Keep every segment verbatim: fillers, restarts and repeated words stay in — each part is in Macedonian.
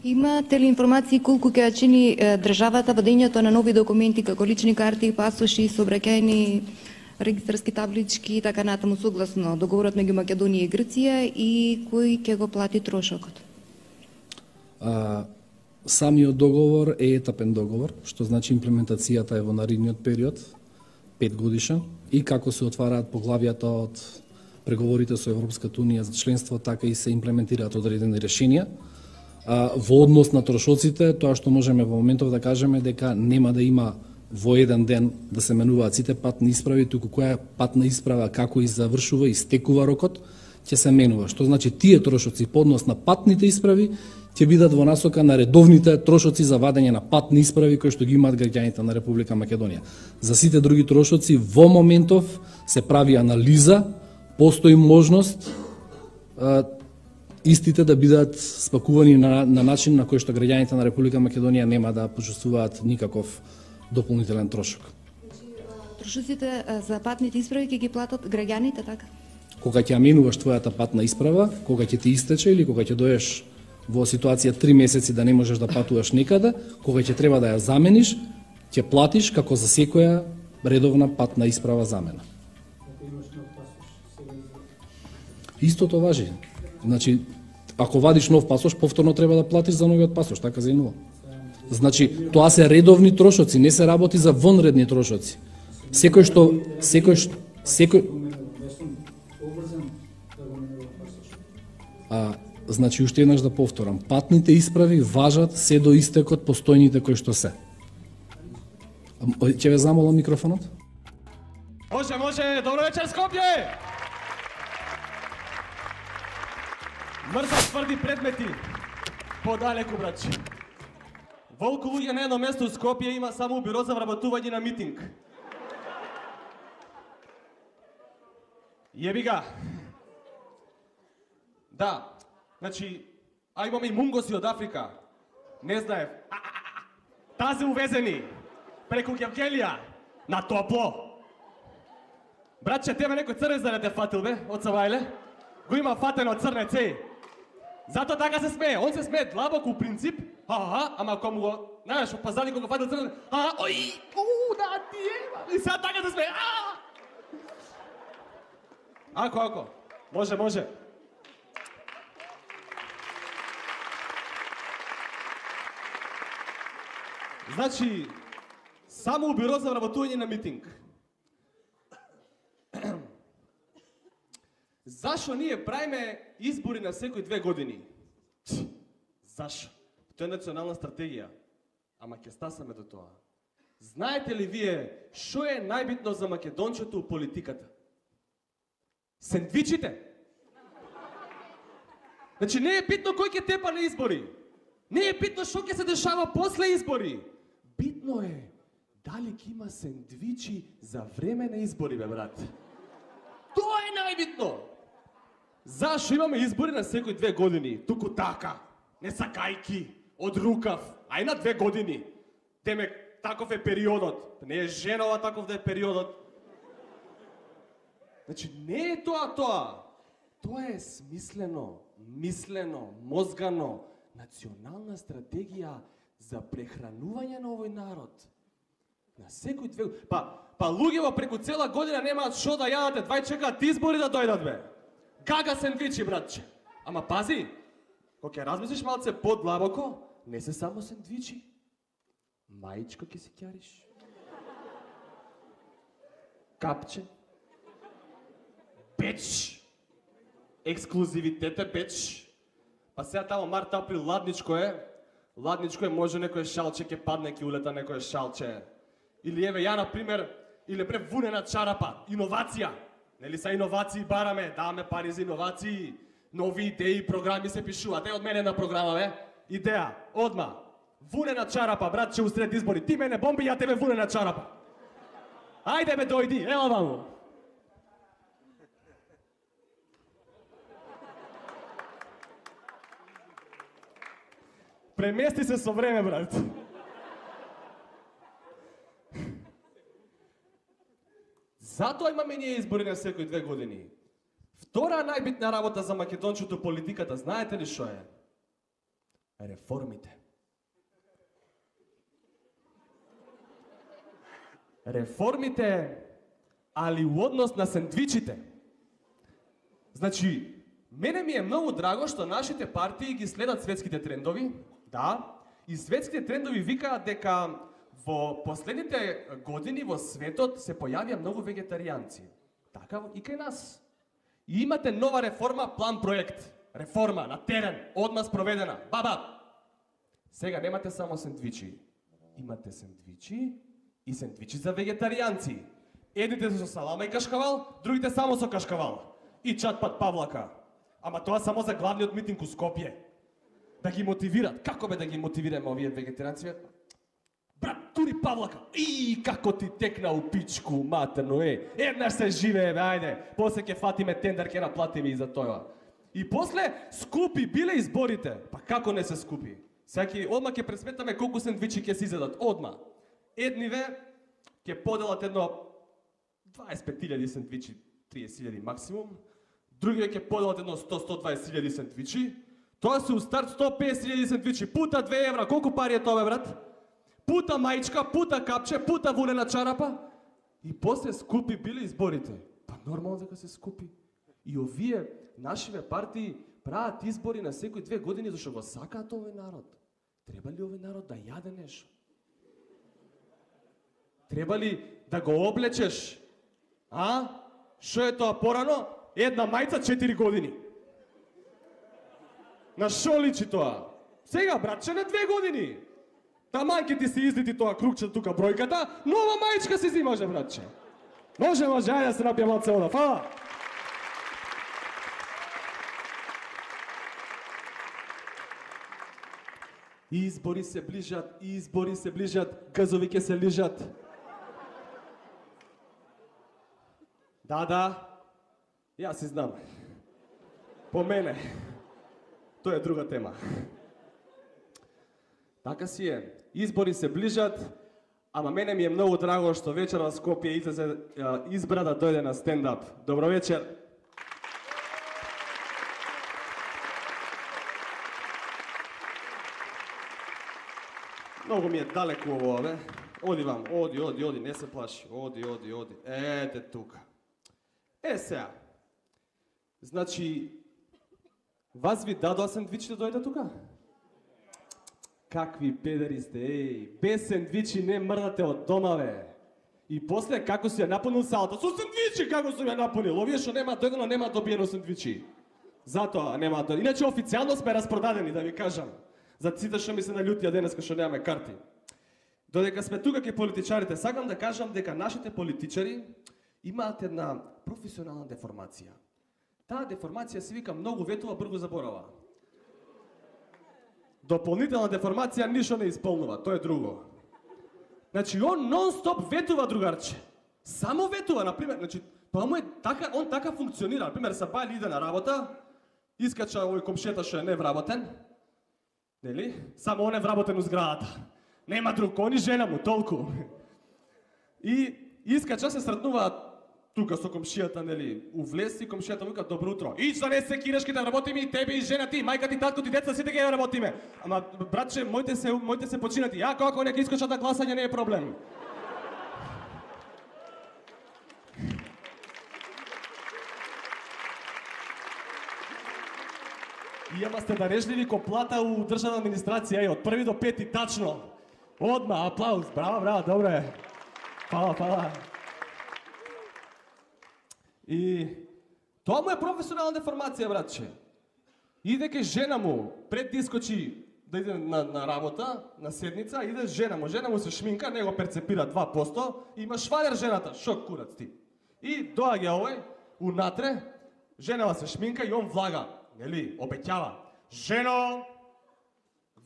Имате ли информации колку ќе чини државата вадењето на нови документи како лични карти, пасоши, сообраќајни регистарски таблички и така натаму согласно договорот меѓу Македонија и Грција и кој ќе го плати трошокот? А, самиот договор е етапен договор, што значи имплементацијата е во наредниот период, пет годишен, и како се отвараат поглавјата од преговорите со Европската унија за членство, така и се имплементираат одредени решенија. А, во однос на трошоците, тоа што можеме во моментов да кажеме дека нема да има во еден ден да се менуваат сите патни исправи, туку која патна исправа како и завршува и стекува рокот, ќе се менува. Што значи тие трошоци по однос на патните исправи ќе бидат во насока на редовните трошоци за вадење на патни исправи кои што ги имаат граѓаните на Република Македонија. За сите други трошоци во моментов се прави анализа, постои можност а, истите да бидат спакувани на, на начин на кој што граѓаните на Република Македонија нема да почувствуваат никаков дополнителен трошок. Трошоците за патните исправи ќе ги платат граѓаните, така? Кога ќе менуваш твојата патна исправа, кога ќе ти истече или кога ќе доеш во ситуација три месеци да не можеш да патуваш никаде, кога ќе треба да ја замениш, ќе платиш како за секоја редовна патна исправа замена. Истото важи. Значи, ако вадиш нов пасош, повторно треба да платиш за новиот пасош, така за инува. Значи, тоа се редовни трошоци, не се работи за вонредни трошоци. Секој што секој што секој А, значи, уште еднаш да повторам, патните исправи важат се до истекот постојните кои што се. Ќе ве замолам микрофонот? Може, може, добро вечер, Скопје! Мрзат тврди предмети, подалеку, братче. Волку луѓе на едно место у Скопје има само бюро за вработување на митинг. Јеби га. Да, значи, а имаме и мунгоси од Африка. Не знаев. Тази увезени преку Гевгелија на топло. Братче, тебе некој црнец да не те фатил, бе, од Савајле? Го има фатено црнец, еј. Зато така се смее. Он се смее длабоко у принцип, ага, ама ако му го, знаеш, опазали кога го фатил црнец, ага, ој, уу, да ти е, и сега така се смее, аа! Ако, ако, може, може. Значи, само у бюро за вработување на митинг. Зашо ние правиме избори на секои две години? Зашо? Тоа е национална стратегија. Ама ќе стасаме до тоа. Знаете ли вие што е најбитно за македончето у политиката? Сендвичите. Значи не е битно кој ќе тепа на избори. Не е битно што ќе се дешава после избори. Битно е дали ќе има сендвичи за време на избори, бе, брат. Тоа е најбитно. Зашо имаме избори на секои две години? Туку така, не сакајки, од рукав, а и на две години. Демек, таков е периодот. Не е женова, таков да е периодот. Значи, не е тоа тоа. Тоа е смислено, мислено, мозгано, национална стратегија за прехранување на овој народ. На секој две... Па, па луѓево преку цела година немаат шо да јадат, двај чекаат избори да дојдат, бе. Гага сендвичи, братче. Ама пази, кога ќе размислиш малце подлабоко, не се само сендвичи. Маичко ќе си ќариш. Капче. Печ. Ексклузивитет е печ. Па сега тамо март, април, ладничко е. Ладничко е, може некој шалче ќе падне, ќе улета некој шалче. Или еве ја, например, или пре вунена чарапа, иновација. Нели са иновации бараме, даваме пари за иновации, нови идеи, програми се пишуваат. Е, од мене на програма, бе. Идеја, одма. Вунена чарапа, братче, усред избори. Ти мене бомби, ја тебе вунена чарапа. Ајде, бе, дојди, ела ваму. Премести се со време, брат. Затоа имаме ние избори на секои две години. Втора најбитна работа за македончето политиката, знаете ли што е? Реформите. Реформите, али у однос на сендвичите. Значи, мене ми е многу драго што нашите партии ги следат светските трендови, да, и светските трендови викаат дека во последните години во светот се појавија многу вегетаријанци. Така и кај нас. И имате нова реформа, план проект. Реформа на терен, одма спроведена. Баба! Сега немате само сендвичи. Имате сендвичи и сендвичи за вегетаријанци. Едните со салама и кашкавал, другите само со кашкавал. И чатпат павлака. Ама тоа само за главниот митинг у Скопје. Да ги мотивират. Како бе да ги мотивираме овие вегетаријанци? Брат, тури павлака. И како ти текна у пичку, матерно, е. Еднаш се живее, бе, ајде. После ќе фатиме тендер, ќе наплатиме и за тоа. И после скупи биле изборите. Па како не се скупи? Секи одма ќе пресметаме колку сендвичи ќе се изедат. Одма. Едниве ќе поделат едно дваесет и пет илјади сендвичи, триесет илјади максимум. Другиве ќе поделат едно сто до сто и дваесет илјади сендвичи. Тоа се у старт сто и песет илјади сендвичи. Пута две евра. Колку пари е тоа, брат? Пута маичка, пута капче, пута вулена чарапа. И после скупи биле изборите. Па нормално дека се скупи. И овие нашиве партии прават избори на секои две години зашто го сакаат овој народ. Треба ли овој народ да јаде нешто? Треба ли да го облечеш? А? Шо е тоа порано? Една мајца четири години. На шо личи тоа? Сега, братче, на две години. Таман ке ти се излити тоа кругче тука бројката, нова мајчка си зимаше, братче. Може, може, ајде да се напијам од цело. Фала! Избори се ближат, избори се ближат, газови ке се лижат. Да, да, јас си знам. По мене. Тоа е друга тема. Така си е. Избори се ближат, ама мене ми е многу драго што вечер во Скопје излезе избра да дојде на стендап. Добро вечер. Многу ми е далеку ово, бе. Оди вам, оди, оди, оди, не се плаши. Оди, оди, оди. Ете тука. Е, сега. Значи, вас ви дадоа сендвичи да дојде тука? Какви педери сте, еј. Без сендвичи не мрдате од дома, бе. И после, како си ја напунил салата? Со сендвичи, како сум ја напунил? Овие што нема дојдено, нема добиено сендвичи. Затоа нема дојдено. Иначе, официјално сме распродадени, да ви кажам. За сите што ми се налютија денеска што немаме карти. Додека сме тука ке политичарите, сакам да кажам дека нашите политичари имаат една професионална деформација. Таа деформација се вика многу ветува, брзо заборава. Дополнителна деформација ништо не исполнува, тоа е друго. Значи он нон-стоп ветува, другарче. Само ветува, например, значи тоа му е така, он така функционира. Например, Сабајли иде на работа, искача овој комшета што е невработен. Нели? Само он е вработен у зградата. Нема друг, он и жена му, толку. И искача се сретнуваат тука со комшијата, нели, у влез и комшијата му вика добро утро. Ич да не се кираш ке да работиме и тебе и жена ти, мајка ти, татко ти, деца, сите ќе работиме. Ама братче, моите се моите се починати. Ја како нека искачат на гласање не е проблем. И ама сте дарежливи ко плата у државна администрација, од први до пети тачно. Одма, аплауз, браво, браво, добре. Фала, фала. И тоа му е професионална деформација, братче. Иде ке жена му, пред да искочи да иде на, на работа, на седница, иде жена му. Жена му се шминка, него перцепира два посто, има швалер жената, шок курац ти. И доаѓа овој, унатре, женава се шминка и он влага, нели, обеќава. Жено,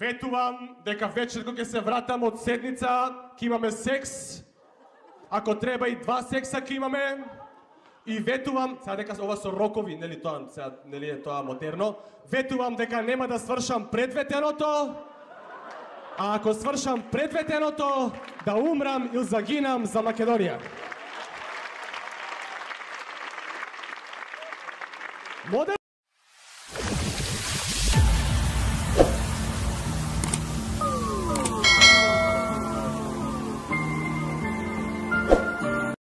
ветувам дека вечер кога ќе се вратам од седница, ќе имаме секс. Ако треба и два секса ќе имаме. И ветувам, сега дека ова со рокови, нели тоа, сега нели е тоа модерно, ветувам дека нема да свршам пред ветеното, а ако свршам пред ветеното, да умрам или загинам за Македонија. Модерно